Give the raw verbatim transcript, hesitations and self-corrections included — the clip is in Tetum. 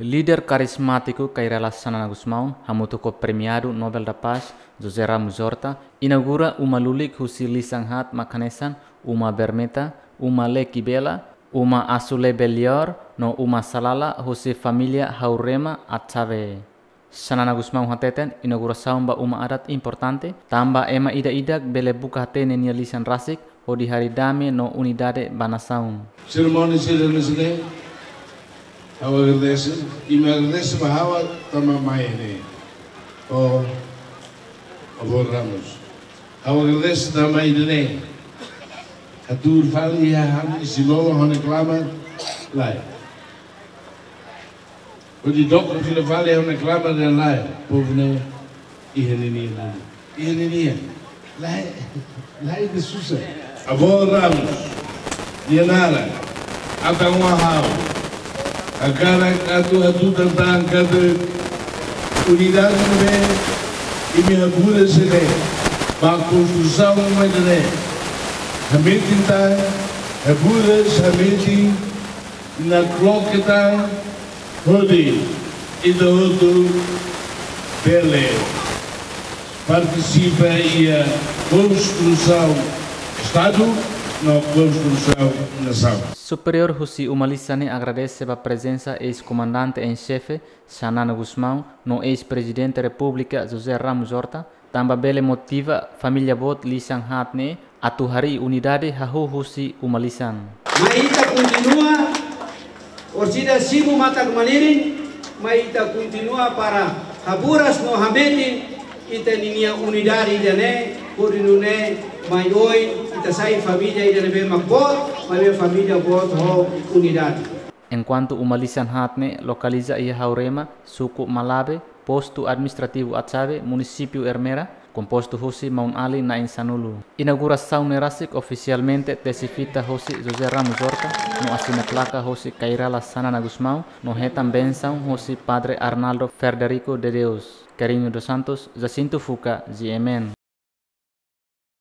Líder karizmátiku Kay Rala Xanana Gusmão, hamutuk ho Premiadu Nobel da Paz, José Ramos Horta, inaugura uma lulik husi lisan haat mak hanesan uma Bermeta, uma Leki Bela, uma Asule Belior, no uma Salala husi família Haurema Atxabe. Xanana Gusmão hateten, inaugurasaun ba uma adat importante, tanba ema ida-idak bele buka hatene nia lisan rasik, hodi harii dame no unidade ba nasaun. Serimónia sira hanesan ne'e, ha'u agradese, i imi agradese ba ha'u tanba mai ne'e. Ho avó Ramos. Ha'u agradese tanba ida-ne'e. Hatuur fali iha ha'u-nia isin-lolon ha'u-nia klamar, lae. Hodi dook fila fali ha'u-nia klamar dehan lae, povu ne'e iha ninia, iha ninia. Lae, lae de susa. Avó Ramos, nia naran, atan ho ha'u. Hakarak atu hatutan tan katak unidade ne'ebé imi haburas ne'e, ba konstrusaun ida-ne'e, hametin tan, haburas hametin, nakloke tan, hodi ita hotu bele partisipa iha konstrusaun Estadu no konstrusaun nasaun. Superiór husi uma lisan ne'e agradese ba prezensa eis-komandante en xefe Xanana Gusmão no eis-Prezidente Repúblika José Ramos Horta, tanba bele motiva família boot lisan haat ne'e atu harii unidade hahú husi uma lisan. Mai ita kontinua, orsida simu matak-malirin, mai ita kontinua para haburas no hametin ita-ninia unidade ida-ne'e, hodi nune'e mai oin ita sai família ida ne'ebé mak boot, maibé família boot ho unidade. Enkuantu uma lisan haat ne'e lokaliza iha Haurema, suku Malabe, postu administrativu Atxabe, munisípiu Ermera, kompostu husi maun-alin na'in sanulu. Inaugurasaun ne'e rasik ofisialmente tesi fita husi José Ramos Horta, no asina plaka husi Kay Rala Xanana Gusmão, no hetan bensaun husi Padre Arnaldo Frederico de Deus. Carrinho dos Santos, Jacinto Fuca, G M N.